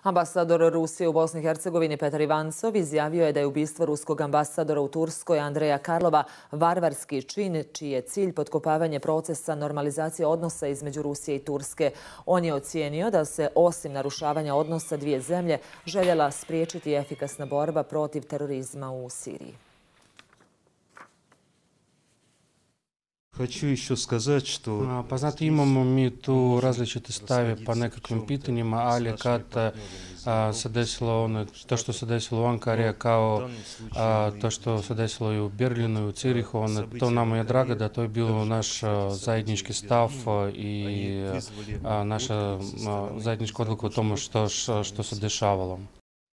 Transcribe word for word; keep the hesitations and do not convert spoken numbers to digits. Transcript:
Ambasador Rusije u Bosni i Hercegovini Petar Ivancov izjavio je da je ubistvo ruskog ambasadora u Turskoj Andreja Karlova varvarski čin čiji je cilj potkopavanje procesa normalizacije odnosa između Rusije i Turske. On je ocijenio da se osim narušavanja odnosa dvije zemlje željela spriječiti efikasna borba protiv terorizma u Siriji. Хочу еще сказать, что... Pa znate, imamo mi tu različite stave pa nekakvim pitanjima, ali kad a, se desilo ono, to što se desilo u Ankari, kao a, to što se desilo i u Berlinu i u Cirihu, ono, to nama je drago da to je bilo naš a, zajednički stav i a, naša a, zajednička odluka o tomu što, što se dešavalo.